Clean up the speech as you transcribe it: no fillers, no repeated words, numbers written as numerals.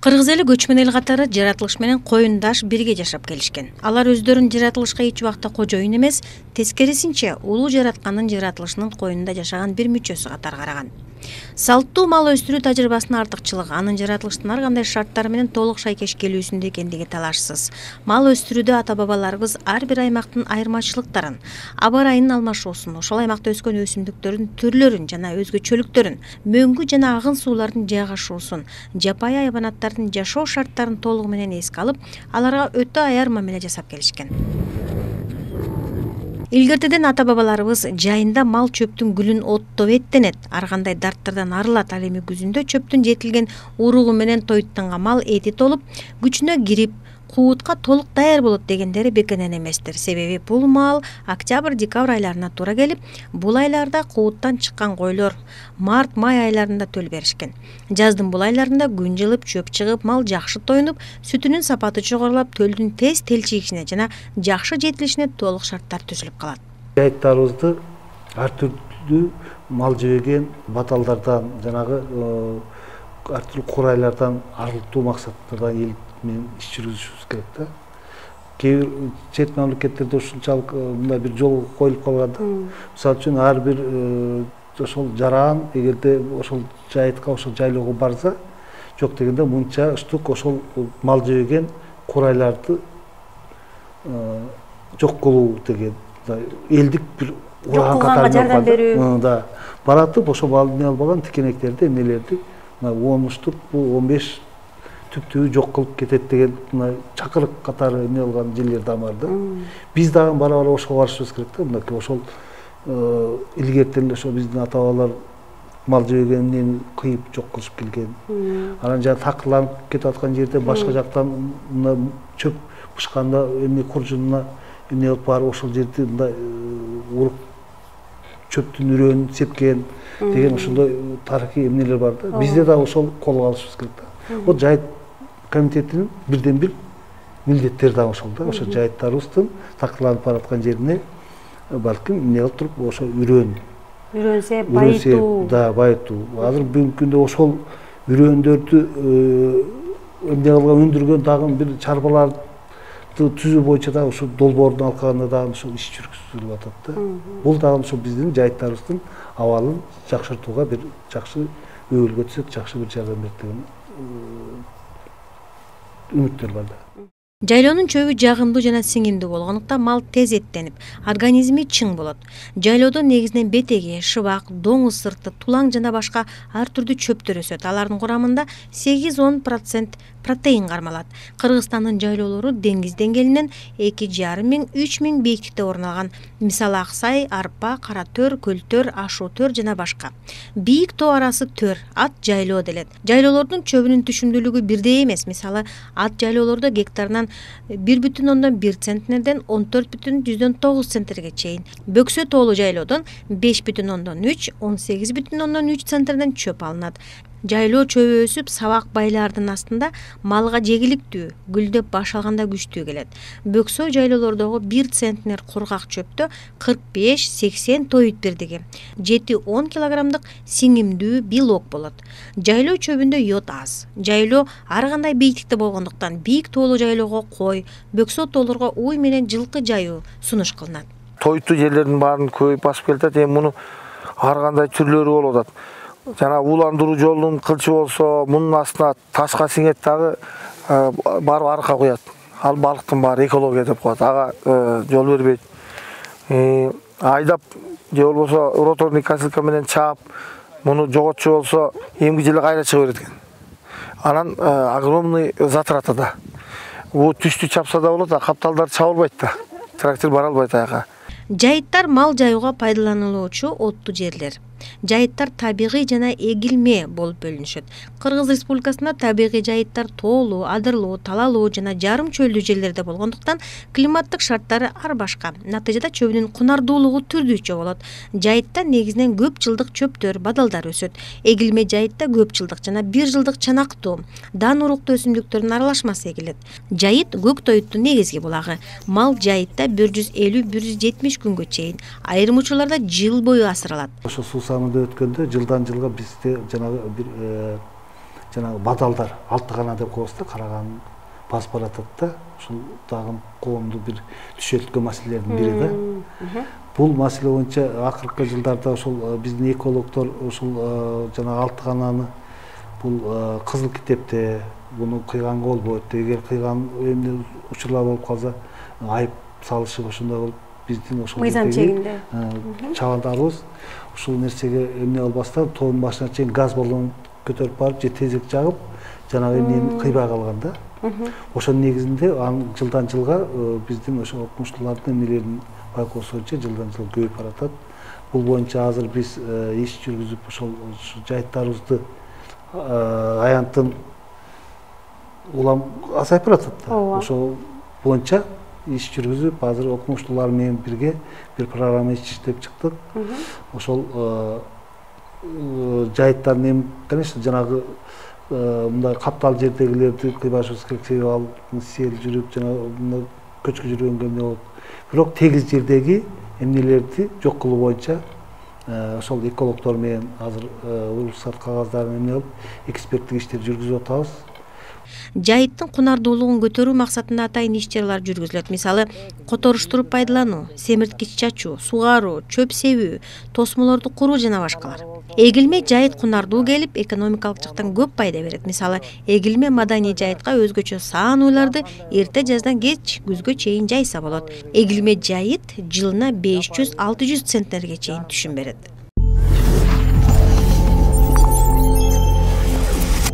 Кыргыз эли көчмөн эл катары жаратылыш менен коюндаш бирге жашап келишкен. Алар өздөрүн жаратылышка эч убакта кожоюн эмес, тескерисинче улуу жараткандын жаратылышынын коюнунда жашаган бир мүчөсү катары караган. Салттуу мал өстүрүү тажрыйбасынын артыкчылыгы анын жаратылыштын ар кандай шарттары менен толук шайкеш келүүсүндө экендиги талашсыз. Мал өстүрүүдө ата-бабаларыбыз ар бир аймактын айырмачылыктарын, аба ырайынын алмашуусун, ошол аймакта өскөн өсүмдүктөрдүн түрлөрүн жана өзгөчөлүктөрүн, мөңгү жана агын суулардын жайгашуусун, жапайы айбанаттардын жашоо шарттарын толугу менен эске алып, аларга өтө аяр мамиле жасап келишкен. Илгертеден ата-бабаларыбыз жайында мал чөптүн гүлүн оттоп эттенет, ар кандай дарттардан арылат. Ал эми күзүндө чөптүн жетилген уругу менен тоюттанган мал эти толуп, күчүнө кирип, куутка толук даяр болот дегендери бекенен эместир. Себеби бул мал октябрь-декабрь айларына туура келип, бул айларда кууттан чыккан койлор март-май айларында төл беришкен. Жаздын бул айларында күн жылып, чөп чыгып, мал жакшы тоюнуп, сүтүнүн сапаты жогорулап, төлдүн тез телчигишине жана жакшы жетилишине толук шарттар түзүлүп калат. Жайыттарыбызды ар түрдүү мал жебеген баталдардан, жанагы ар түрдүү курайлардан арылтуу максаттарда эл мен иш жүргүзүшүбүз керек да. Кээ бир чет мамлекеттерде ушунчалык мындай бир жол коюлуп калган да. Мисалы үчүн ар бир ошол жаран эгерде ошол жайытка, ошол жайлоого барса, жок дегенде мынча штук ошол мал жебеген курайларды жок кылуу деген элдик бир ураган катары жардам берүү. Да. Баратып ошо эмне албаган тикенектерди, эмнелерди 10 штук, 15 түптүү жок кылып кетет деген чакырык катары эмне алган жерлер да бар да. Биз дагы бара-бара ошого барышыбыз керек да. Мынакей ошол илгертен эле ошо биздин ата-бабалар мал жебегенин кыйып жок кылышып келген. Анан жана такырланып кетип аткан жерде башка жактан чөп бышканда эмне куржунуна эмне алып барып ошол жерди мындай уруп чөптүн үрөөнүн сепкен деген ошондой тарыхый эмнелер бар да. Бизде дагы ошол колго алышыбыз керек да. Вот жайыт комитетинин бирден бир милдеттери да ошол да. Ошо жайыттарыбыздын такырланып бараткан жерине балким эмне кылып туруп ошо үрөөнсө байытуу. Да, байытуу. Азыр бүгүнкү күндө ошол үрөөндөрдү эмне кылган өндүргөн дагы бир чарбаларды түзүү боюнча да ошо долбоордун алкагында дагы ошол иш жүргүзүлүп атат да. Бул дагы ошо биздин жайыттарыбыздын абалын жакшыртууга бир жакшы өбөлгө түшөт, жакшы бир жардам берет деген үмүттөр бар да. Жайлоонун чөбү жагымдуу жана сиңимдүү болгондуктан мал тез эттенип, организми чың болот. Жайлоодо негизинен бетеги, шыбак, доңуз сырты, тулаң жана башка ар түрдүү чөптөр өсөт. Алардын курамында 8-10% протеин кармалат. Кыргызстандын жайлоолору деңиз деңгээлинен 2500-3000 бийиктикте орун алган. Мисалы Аксай, Арпа, Кара төр, Көл төр, Ашуу төр жана башка. Бийик тоо арасы төр, ат жайлоо делет. Жайлоолордун чөбүнүн түшүмдүүлүгү бирдей эмес. Мисалы ат жайлоолордо гектарынан 1,1 центнерден 14,9 центнерге чейин. Бөксө тоолуу жайлоодон 5,3, 18,3 центнерден чөп алынат. Жайлоо чөбү өсүп, сабак байлардын астында малга жегиликтүү, гүлдөп баш алганда күчтүү келет. Бөксө жайлоолордогу 1 центнер кургак чөптө 45-80 тоют бирдиги, 7-10 килограммдык сиңимдүү белок болот. Жайлоо чөбүндө йод аз. Жайлоо ар кандай бийиктикте болгондуктан бийик тоолуу жайлоого кой, бөксө тоолорго уй менен жылкы жайуу сунуш кылынат. Тоюттуу жерлердин баарын көбөйүп басып келатат. Эми муну ар кандай түрлөрү болуп атат. Жана ууландыруу жолунун кылчы болсо, мунун астына ташка сиңет дагы барып арка куят. Ал балыктын баары экология деп коет. Ага жол бербейт. Айдап же болбосо роторный косилка менен чаап, муну жоготчу болсо эмги жылы кайра чыга берет экен. Анан огромный затрата да. Бул түштү чапса да болот, а капталдар чабылбайт да. Трактор бара албайт аяка. Жайыттар мал жаюуга пайдаланылуучу оттуу жерлер. Жайыттар табигый жана эгилме болуп бөлүнүшөт. Кыргыз Республикасында табигый жайыттар тоолуу, адырлуу, талалуу жана жарым чөлдүү жерлерде болгондуктан климаттык шарттары ар башка. Натыйжада чөбүнүн кунардуулугу түрдүүчө болот. Жайытта негизинен көп жылдык чөптөр, бадалдар өсөт. Эгилме жайытта көп жылдык жана 1 жылдык чанактуу, дан уруктуу өсүмдүктөрдүн аралашмасы эгилет. Жайыт көк тоюттун негизги булагы. Мал жайытта 150-170 күнгө чейин, айрым учурларда жыл бою асыралат. Ошо суу самырда өткөндө жылдан жылга бизде жанагы бир жанагы бадалдар алтыгана деп коебуз да, караган басып баратат да, ушул дагы коомду бир түшөлткөн маселелердин бири да. Бул маселе боюнча акыркы жылдарда ушул биздин экологдор ушул жанагы алтыгананы бул кызыл китепте буну кыйганга болбойт, эгер кыйган эмне учурлар болуп калса айып салышып ошондой кылып биздин ошол мыйзам чегинде чабандарыбыз ушул нерсеге эмне кылбастан тоонун башына чейин газ баллон көтөрүп барып же тезек жагып жанагы эмнени кыйбай калган да. Ошонун негизинде жылдан жылга биздин ошо окумуштуулардын эмнелерин байкоосу боюнча жылдан жылга көбөйүп баратат. Бул боюнча азыр биз иш жүргүзүп ошол жайыттарыбызды аянттын улам азайып баратат да. Ошол боюнча иш жүргүзүп азыр окумуштуулар менен бирге бир программа иштеп чыктык. Ошол жайыттардын эми конечно жанагы мындай каптал жердегилерди кыйбашыбыз керек, себеби ал сел жүрүп жанагы көчкү жүргөнгө эмне болот. Бирок тегиз жердеги эмнелерди жок кылуу боюнча ошол экологдор менен азыр уруксат кагаздарын эмне кылып эксперттик иштер жүргүзүп атабыз. Жайыттын кунардуулугун көтөрүү максатында атайын иш-чаралар жүргүзүлөт. Мисалы, которуштуруп пайдалануу, семирткич чачуу, сугаруу, чөп себүү, тосмолорду куруу жана башкалар. Эгилме жайыт кунардуу келип, экономикалык жактан көп пайда берет. Мисалы, эгилме маданий жайытка өзгөчө саан уйларды эрте жаздан кеч күзгө чейин жайса болот. Эгилме жайыт жылына 500-600 центнерге чейин түшүм берет.